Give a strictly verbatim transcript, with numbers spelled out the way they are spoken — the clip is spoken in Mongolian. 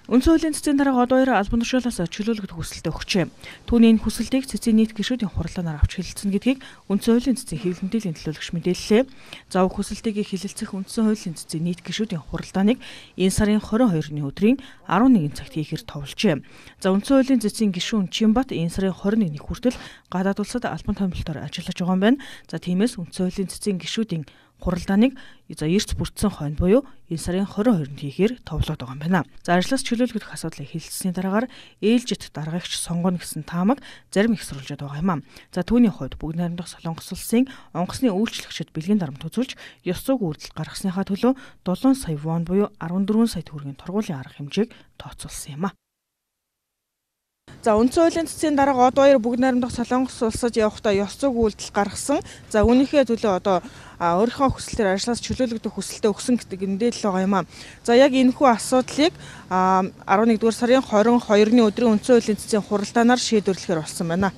Үндсэн хуулийн цэцгийн дарга од баяр албан тушаалаас чөлөөлөгдөх хүсэлтэд өгчээ. Түүний энэ хүсэлтийг цэцгийн нийт гишүүдийн хурлаанаар авч хэлэлцэн гэдгийг Үндсэн хуулийн цэцгийн хэвлэл мэдээллийн төлөөлөгч мэдээллээ. За хүсэлтийг хэлэлцэх Үндсэн хуулийн цэцгийн нийт гишүүдийн хуралдааныг энэ сарын хорин хоёрны өдрийн арван нэгэн цагт хийхээр товолжээ. За Үндсэн хуулийн цэцгийн гишүүн Чимбат энэ сарын хорин нэгний хүртэл гадаад улсад албан томилолтоор ажиллаж байгаа юм байна. За тиймээс Үндсэн хуулийн цэцгийн гишүүдийн хуралдааныг за эрт бүрдсэн хойно буюу энэ сарын хорин хоёрнд хийхээр товлоод байгаа юм байна. За ажлаас чөлөөлөгдөх асуудлыг хэлэлцсэний дараагаар ээлжит даргаагч сонгоно гэсэн таамаг зарим их сурвалжаад байгаа юм аа. За түүний хувьд бүгд найрамдах Солонгос улсын онгоцны үйлчлэгчид бэлгийн дарамт үзүүлж ёс зүйн үйлдэл гаргасныхаа төлөө долоон сая вон буюу арван дөрвөн сая төгрөгийн торгуулийн арга хэмжээг тооцоолсон юм аа. За Үндсэн хуулийн цэцгийн дарга од баяр бүгд найрамдах Солонгос улсад явахдаа ёс зүйн үйлдэл гаргасан. За үүнийхээ төлөө одоо өөрийнхөө хүслээр ажлаас чөлөөлөгдөх хүсэлтэд өгсөн гэдэг мэдээлэл байгаа юм аа. За яг энэхүү асуудлыг арван нэгдүгээр сарын хорин хоёрны өдрийн Үндсэн хуулийн цэцгийн хуралдаанаар шийдвэрлэхээр болсон байна.